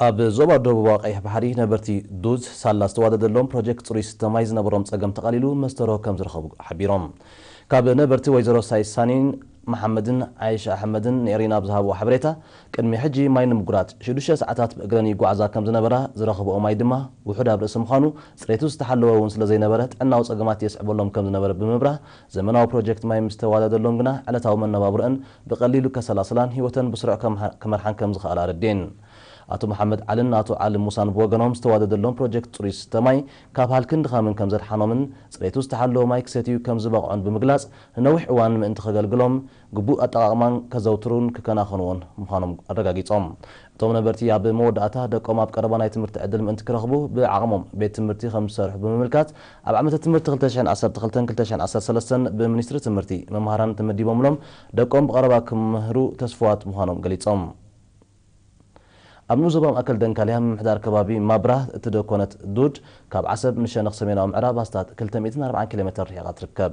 ኣብ ዞባ ደቡባዊ ቀይሕ ባሕሪ ነበርቲ ዱዝ ሳላ ዝተዋደደሎም ፕሮጀክት ጽሩይ ስተ ማይ ዝነበሮም ጸገም ተቓሊሉ መስተርሆ ከም ዝረኸቡ ሓቢሮም። ካብ ነበርቲ ወይዘሮ ሳይሳኒን መሓመድን ዓይሻ ኣሕመድን ንኤሪና ብዝሃብዎ ሓበሬታ፣ ቅድሚ ሕጂ ማይ ንምጉራጽ ሽዱሽተ ሰዓታት ብእግረን ይጓዓዛ ከም ዝነበራ፣ ዝረኽብኦ ማይ ድማ ውሑድ ኣብ ርእሲ ምዃኑ፣ ጽሬቱ ዝተሓለወ እውን ስለ ዘይነበረ ጥዕናዊ ጸገማት የስዕበሎም ከም ዝነበረ ብምብራህ፣ ዘመናዊ ፕሮጀክት ማይ ምስ ተዋደደሎም ግና ዕለታዊ መነባብሮአን ብቐሊሉ ከሰላስላን ህይወተን ብስሩዕ ከምሓ-፣ ክመርሓን ከም ዝኸኣላ ኣረዲኤን። ኣቶ መሓመድ ዓልን ኣቶ ዓሊ ሙሳን ብወገኖም ዝተዋደደሎም ፕሮጀክት ጽሩይ ስተ ማይ ካብ ሃልክን ድኻምን ከም ዘድሓኖምን ጽሬቱ ዝተሓለወ ማይ ክሰትዩ ከም ዝበቕዑን ብምግላጽ፣ ንነዊሕ እዋን ምእንቲ ከገልግሎም ግቡእ ኣጠቓቕማን ከዘውትሩን ክከናኸንዎን ምዃኖም ኣረጋጊጾም። እቶም ነበርቲ ኣብ መወዳእታ ደቆም ኣብ ቀረባ ናይ ትምህርቲ ዕድል ምእንቲ ክረኽቡ ብዓቕሞም ቤት ትምህርቲ ከም ዝሰርሑ ብምምልካት፣ ኣብ ዓመተ ትምህርቲ ክልተ ሽሕን ዓሰርተ ክልተን ክልተ ሽሕን ዓሰርተ ሰለስተን ብሚኒስትሪ ትምህርቲ መምሃራን ተመዲቦምሎም ደቆም ብቐረባ ክምህሩ ተስፍዋት ምዃኖም ገሊጾም። ኣብ ንኡስ ዞባ ማእከል ደንካልያ ምምሕዳር ከባቢ ማብራህ እትደኮነት ዱድ፣ ካብ ዓሰብ ንሸነኽ ሰሜናዊ ምዕራብ ኣስታት ክልተ ሚእትን ኣርባዓን ኪሎ ሜተር ርሒቓ ትርከብ።